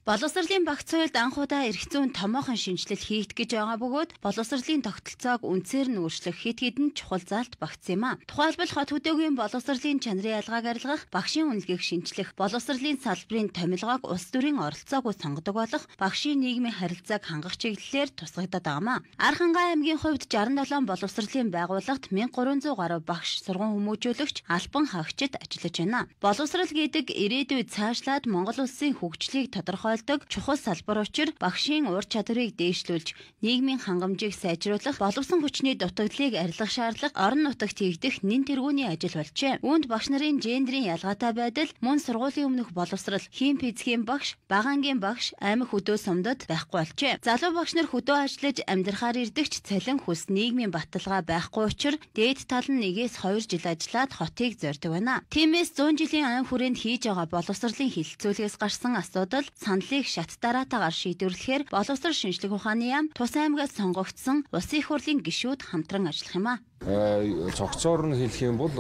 Боловсролын багц соёлд анхудаа эрх зүйн томоохон шинжилэл хийгдэх гэж байгаа бөгөөд боловсролын тогтолцоог үнцээр нь өөрчлөх хэд хэдэн чухал заалт багтсан юм а. Тухайлбал хот хөдөөгийн боловсролын чанарын ялгааг арилгах, багшийн үнэлгээг шинжлэх, боловсролын салбарын томилгоог улс төрийн оролцоогүй сонгодог болох багшийн нийгмийн харилцааг хангах чиглэлээр тусгагдаад байгаа юм а. Архангай аймгийн хувьд 67 боловсролын байгууллагт 1300 гаруй багш, сургууль хүмүүжүүлэгч, албан хаагчид ажиллаж байна. Боловсрол гэдэг ирээдүйд цаашлаад Монгол улсын хөгжлийг тодорхойлдог чухал салбар учир багшийн ур чадварыг дээшлүүлж, нийгмийн хангамжийг сайжруулах, боловсон хүчний дутагдлыг арилгах шаардлага орон нутагт хийгдэх нэн тэргүүний ажил болжээ. Үүнд багш нарын гендерийн ялгаатай байдал, мөн сургуулийн өмнөх боловсрол, хийм физикийн багш, багаангийн багш, аймаг хөдөө сумдад байхгүй болжээ. Залуу багш нар хөдөө ажиллаж амьдрахаар ирдэгч цалин хүс нийгмийн баталгаа байхгүй учир дээд тал нь 1-2 жил ажиллаад хотыг зорьдог байна. Тиймээс 100 жилийн айн хүрээнд хийж байгаа боловсролын хилцүүлгээс гарсан асуудал саналыг шат дараатаагаар шийдвэрлэхээр боловсрол шинжлэх ухааны яам Тус аймгаас сонгогдсон улсын их хурлын гишүүд хамтран ажиллах юм а. Цогцоор нь хэлэх юм бол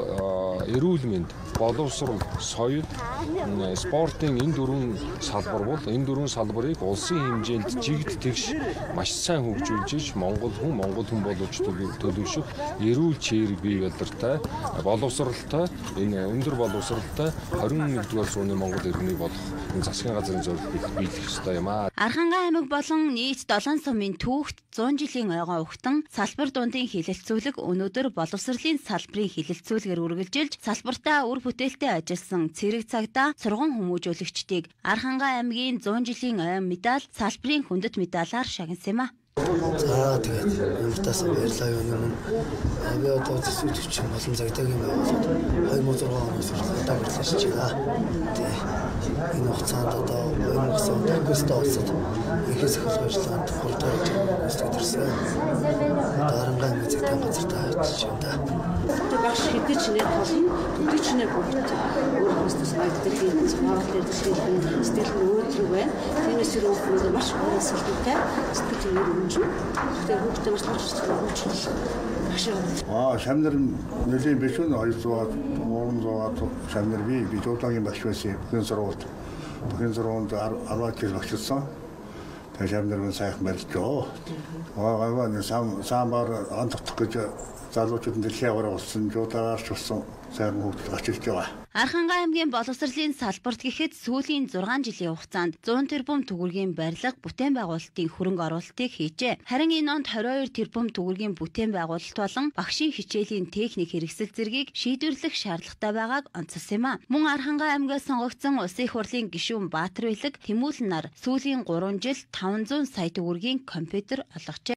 эрүүл мэнд, боловсрол, соёл, спортын энэ дөрвөн салбар бол энэ дөрвөн салбарыг улсын хэмжээнд жигд тэгш маш сайн хөгжүүлж Монгол хүн боловч төлөвшөх эрүүл чирэг бий бололтой, боловсролтой, энэ өндөр боловсролтой 21-р зууны Монгол иргэнийг болох энэ засгийн газрын зорилгыг биелэх ёстой юм а. Архангай аймаг болон нийт 7 сумын түүхт 100 жилийн ойгоо ухтан салбар дундын хилэлцүүлэг өнөөдөр боловсролын салбарын хилэлцүүлгээр үргэлжилж салбартаа үр бүтээлтэй ажилласан цэрэг цагдаа, сургууль хүмүүжүүлэгчдийг Архангай аймгийн 100 жилийн ойн медаль, салбарын хүндэт медалаар шагнасан юм а. За тэгээд юмтаас баярлалаа юм. Би одоо төсөвч болон загдаагийн байгууллагад 2006 оноос удаа ажиллаж байна. Тэгээд энэ хугацаанд одоо 2009 онд улсад ихээс их ажиллагаанд хурдан ажиллаж ирсэн. Дарангай мэзэгтэй газартаа ажиллаж байна. Тэгээд багш хэдий ч нэр болно, төдий ч нэр бүгд өөрөөсөө санагддаг юм. Цогцоор дээр сэтгэл нь өөрчлөг байна. Тиймээс өөрөө маш гол салбартай сэтгэл тэгээд хүүхдээ бас шамнар нэлийн биш үү 200-аад 300-аад шамнар би дуудагийн багш байсан. Бүхэн сургуульд 10 жил багшилсан. Тэгээд шамнар нь сайхан барьжоо. Самбар антах гэж залуучууд дэлхийн аваар болсон, жуудаач болсон сайхан хөгжил очилж байгаа. Архангай аймгийн боловсролын салбарт гэхэд сүүлийн 6 жилийн хугацаанд 100 тэрбум төгрөгийн барилга, бүтээн байгуулалтын хөрөнгө оруулалтыг хийжээ. Харин энэ онд 22 тэрбум төгрөгийн бүтээн байгуулалт болон багшийн хичээлийн техник хэрэгсэл зэргийг шийдвэрлэх шаардлагатай байгааг онцолсон юм а. Мөн Архангай аймгаас сонгогдсон улсын их хурлын гишүүн Баатар Билэг Тэмүүлэн нар сүүлийн 3 жил 500 сая төгрөгийн компьютер олгожээ.